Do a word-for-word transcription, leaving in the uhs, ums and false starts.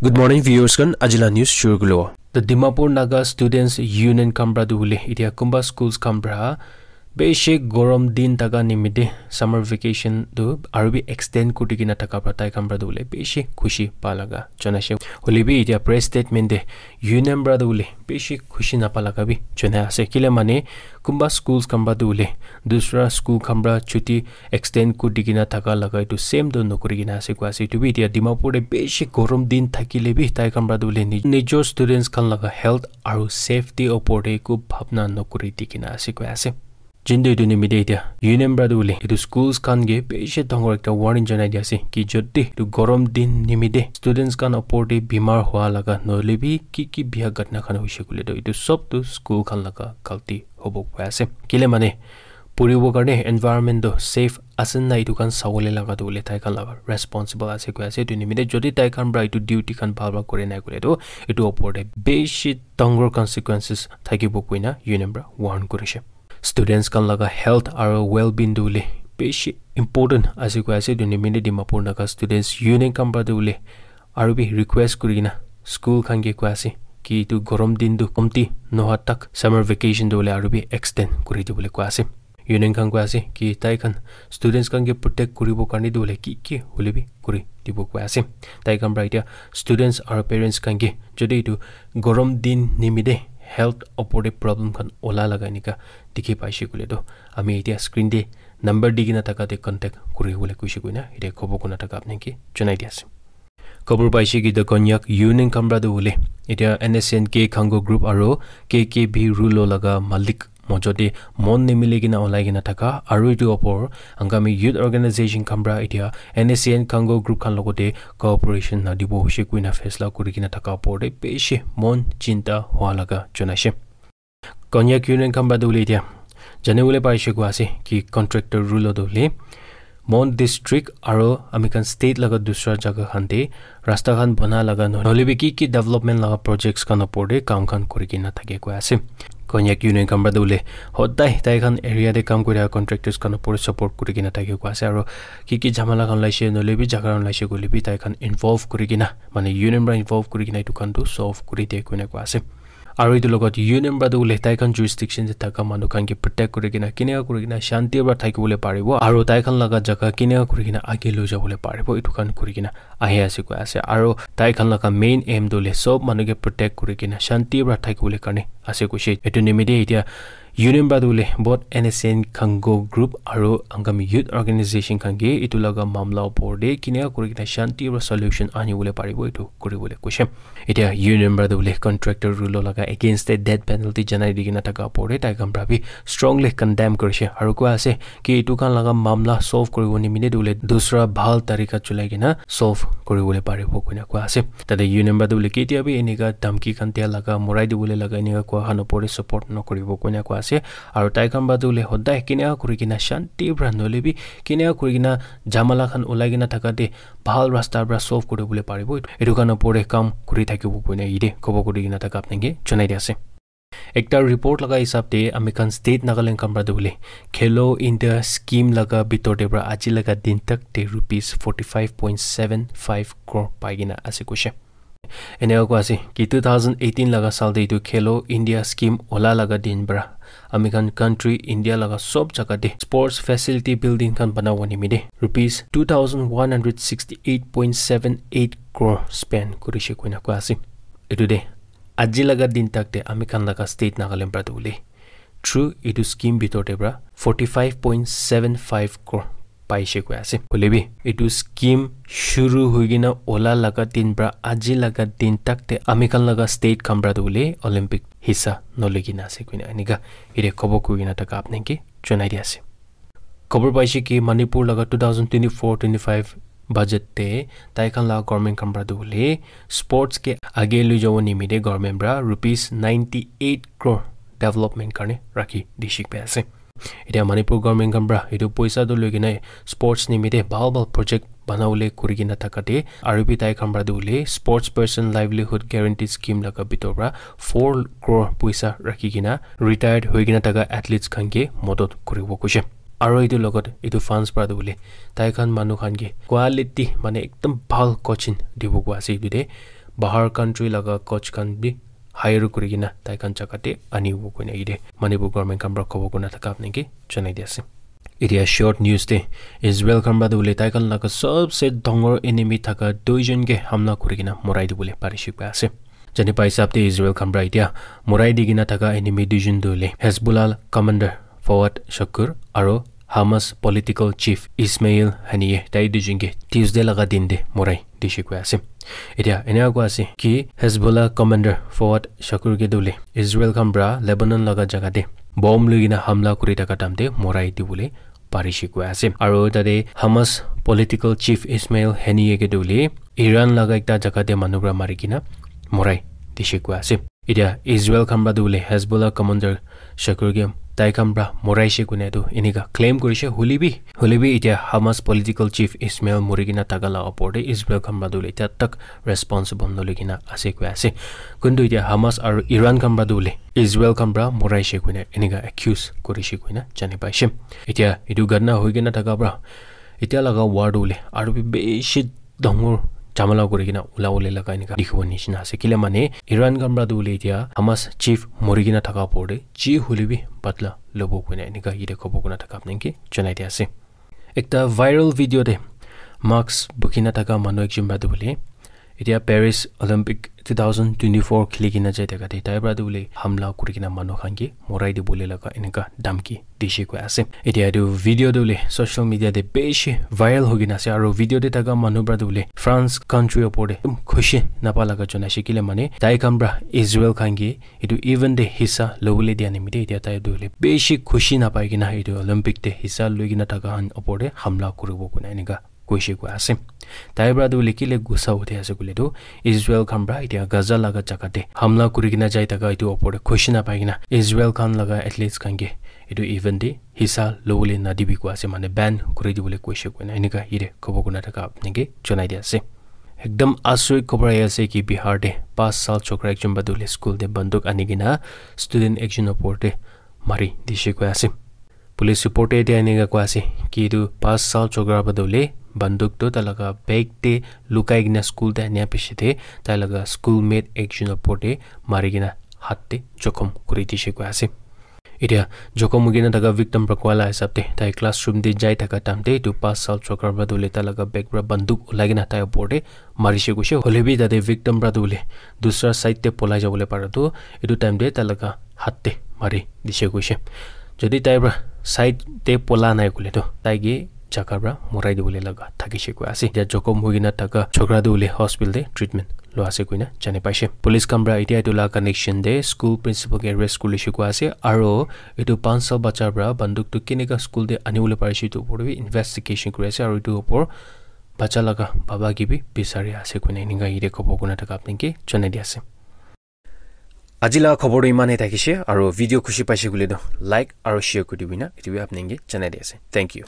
Good morning, viewers khan. Ajila news shuru kulo. The Dimapur Naga Students Union khan pra tu hoile, itia kumba schools khan pra beshi gorom din taka nimite summer vacation tu aru bi extend kuri kena taka pra tai khan pra tu hoile beshi khushi pa laga janaise. Hoile bi itia press statement te union pra tu hoile beshi khushi napa laga bi janai ase. Kile mane kumba schools khan pra tu hoile dusra school khan pra chuti extend kuri kena taka laga etu same tu nokuri kena ase koi ase. Etu bi itia Dimapur te beshi gorom din thakile bi tai khan pra tu hoile ni-, nijor students khan laga health aru safety opor te eku bhabna nokuri di kena ase koi ase. Jintu etu nimite itia union pra tu hoile etu schools khan ke beshi dangor ekta warning janai di ase ki jodi etu gorom din nimite students khan opor te bimar hua laga nohoile bi ki ki biya ghatna khan hoise koile tu etu sob tu school khan laga galti hobo koi ase. Kile mane puribo karne environment tu safe ase na etu khan sawole laga tu hoile tai khan laga responsible ase koi ase. Etu nimite jodi tai khan pra etu duty khan bhal pra kore nai koile tu etu opor te beshi dangor consequences thakibo koina union pra warn kurishe. Students khan laga health aru well-being tu hoile beshi important ase koi ase. Etu nimite Dimapur Naga Students Union khan pra tu hoile aru bi request kuri kena school khan ke koi ase ki etu gorom din tu komti noha tak summer vacation tu hoile aru bi extend kuri dibole koi ase. Union khan koi ase ki tai khan students khan ke protect kuribo karne tu hoile ki ki hoile bi kuri dibo koi ase. Tai khan pra itia students aru parents khan ke jodi etu gorom din nimite health opor te problem khan ola laga enika dikhi paise koile tu ami itia screen te number di kena taka te contact kuri bole koise koina itia khobo kuna taka apni ke janai di ase. Khobor paise ki the Konyak Union khan pra tu hoile itia N S C N K Khango group aru K K B Rulo laga malik mojo te mon nimili kena olai kena taka aru etu opor Angami Youth Organization khan pra itia N S C N Khango group khan logote cooperation na dibo hoise koina faisla kuri kena taka opor te beshi mon chinta hua laga janaise. Konyak Union khan pra tu hoile itia jane bole paise koi ase ki contractor Rulo tu hoile Mon district aru ami khan state laga dusra jaga khan te rasta khan bana laga nohoile bi ki ki development laga projects khan opor te kam khan kuri kena thake koi ase. Konyak Union khan pra tu hoile hodai tai khan area te kam kuri contractors khan opor te support kuri kena thake koi ase aru ki ki jhamala khan olaise nohoile bi jaga khan olaise koile bi tai khan involve kuri kena mane union pra involve kuri kena etu khan tu solve kuri de koina koi ase. Aru etu logot union pra tu hoile tai khan jurisdiction te thaka manu khan ke protect kuri kena kene kuri kena shanti pra thaki bole paribo aru tai khan laga jaga kene kuri kena age loi jabole paribo etu khan kuri kena ahi ase koi ase aru tai khan laga main aim tu hoile sob manu ke protect kuri kena shanti pra thaki bole karne ase koise. Etu nimite itia union pra tu hoile both N S C N Khango group aru Angami Youth Organization khan ke etu laga mamla opor te kene kuri kena shanti pra solution ani bole paribo etu kuri bole koise. Itia union pra tu hoile contractor Rulo laga against te death penalty janai di kena thaka opor te tai khan pra bi strongly condemn kurishe aru koi ase ki etu khan laga mamla solve kuribo nimite tu hoile dusra bhal tarika cholai kena solve kuri bole paribo koina koi ase. Tate union pra tu hoile ketia bi enika dhamki khan dia laga morai di bole laga enika koi khan opor te support nokuribo koina koi ase. Aru tai khan pra tu hoile hodai kene kuri kena shanti pra nohoile bi kene kuri kena jhamala khan olai kena thaka te bhal rasta pra solve kuri bole paribo etu khan opor te kam kuri thakibo koina yate khobo kuri kena thaka apni ke janai di ase. Ekta report laga hisab te ami khan state Nagaland khan pra tu hoile Khelo India scheme laga bitor te pra aji laga din tak te rupees forty five point seven five crore pai kena ase koise. Eneka koi ase ki two thousand eighteen laga saal te etu Khelo India scheme ola laga din pra ami khan country India laga sob jaga te sports facility building khan banabo nimite rupees two thousand one hundred sixty eight point seven eight crore spend kurishe koina koi ase. Etu te aji laga din tak te ami khan laga state Nagaland pra tu hoile through etu scheme bitor te pra forty five point seven five crore paise koi ase. Hoile bi etu scheme shuru hoi kena ola laga din pra aji laga din tak te ami khan laga state khan pra tu hoile Olympic hissa noloi kena ase koina enika yate khobo kuri kena thaka apni ke janai di ase. Khobor paise ki Manipur laga two thousand twenty-four twenty-five budget te tai khan laga government khan pra tu hoile sports ke age loi jabo nimite government pra rupees ninety eight crore development karne rakhi di shik pai ase. Etia Manipur government khan pra etu poisa tu loi kena sports nimite bhal bhal project banabole kuri kena thaka te aru bi tai khan pra tu hoile sports person livelihood guarantee scheme laga bitor pra four crore poisa rakhi kena retired hoi kena thaka athletes khan ke modot kuribo koise. Aru etu logot etu funds pra tu hoile tai khan manu khan ke quality mane ekdum bhal coaching dibo koi ase etu te. bahar country laga coach khan bi hire kuri kena tai khan jaga te anibo koina yate Manipur government khan para khobor kurina thaka apni ke janai di ase. Etia short news te Israel khan para tu hoile tai khan laga sabse dangor enemy thaka duijon ke hamla kuri kena morai dibole parishe koi ase. Jani pai hisab te Israel khan para etia morai di kena thaka enemy duijon tu hoile Hezbollah commander Fawad Shakur aro Hamas political chief Ismail Haniyeh, tai duijon ke Tuesday laga din te morai dishe koi ase. Etia enia koi ase ki Hezbollah commander Fawad Shakur ke tu hoile Israel khan para Lebanon laga jaga te bomb loi kena hamla kuri thaka time te morai dibole parishe koi ase. Aro tate Hamas political chief Ismail Haniyeh ke tu hoile Iran laga ekta jaga te manu para mari kena morai dishe koi ase. Etia Israel khan para tu hoile Hezbollah commander Shakur ke tai khan para moraishe koina tu enika claim kurishe, hoile bi, hoile bi etia Hamas political chief Ismail muri kena thaka la opor te Israel khan para tu hoile etia tak responsible naloi kena ase koi ase. Kuntu etia Hamas aro Iran khan para tu hoile Israel khan para moraishe koina enika accuse kurishe koina jani paishe. Etia etu ghotna hoi kena thaka para etia laga war tu hoile aro bi bishi dangor jhamala kuri kena ulabole laga enika dikhibo nishina ase. Kile mane Iran khan para tu hoile etia Hamas chief muri kena thaka opor te ji hoile bi badla lobo koina enika yate khobor kurina thaka apni ke janai di ase. Ekta viral video te mask bukhi na thaka manu ekjon para tu hoile etia Paris Olympic two thousand twenty-four khili kena jai thaka te tai para tu hoile hamla kuri kena manu khan ke morai dibole laga enika dhamki dishe koi ase. Etia etu video tu hoile social media te bishi viral hoi kena ase, aro video te thaka manu para tu hoile France country opor te ekdum khushi napa laga janaishe, kile mane tai khan para Israel khan ke etu event te hissa lobole dia nimite etia tai tu hoile bishi khushi napai kena etu Olympic te hissa loi kena thaka khan opor te hamla kuribo koina enika koishe koi ase. Tai para tu hoile kile gussa uthi ase koile tu Israel khan para etia Gaza laga jaga te hamla kuri kena jai thaka etu opor te khushi napai kena Israel khan laga athletes khan ke etu event te hissa lobole nadibi koi ase, mane ban kuri dibole koishe koina enika yate khobor kurina thaka apni ke janai di ase. Ekdum asorik khobor ahi ase ki Bihar te paanch saal chokra ekjon para tu hoile school te banduk ani kena student ekjon opor te mari dishe koi ase. Police report te etia enika koi ase ki etu paanch saal chokra para tu hoile banduk tu tai laga bag te lukai kena school te ania piche te tai laga schoolmate ekjon opor te mari kena hath te jokhom kuri dishe koi ase. Etia jokhom hoi kena thaka victim para koa la hisab te tai classroom te jai thaka time te etu paanch saal chokra para tu hoile tai laga bag para banduk ulai kena tai opor te marishe koishe. Hoile bi tate victim para tu hoile dusra side te polai jabole para tu etu time te tai laga hath te mari dishe koishe. Jodi tai para side te pola nai koile tu tai ke jaga para morai dibole laga thakishe koi ase. Etia jokhom hoi kena thaka chokra tu hoile hospital te treatment lua ase koina jani paishe. Police khan para etia etu la connection te school principal ke arrest kurishe koi ase, aro etu paanch saal bacha para banduk tu keneka school te anibole parishe etu opor te bi investigation kuri ase, aro etu opor bacha laga baba ke bi bisari ase koina enika yate khobor kurina thaka apni ke janai di ase. Aji la khobor tu iman he thakishe, aro video khushi paishe koile tu like aro share kuri dibi na etu bi apni ke janai di ase. Thank you.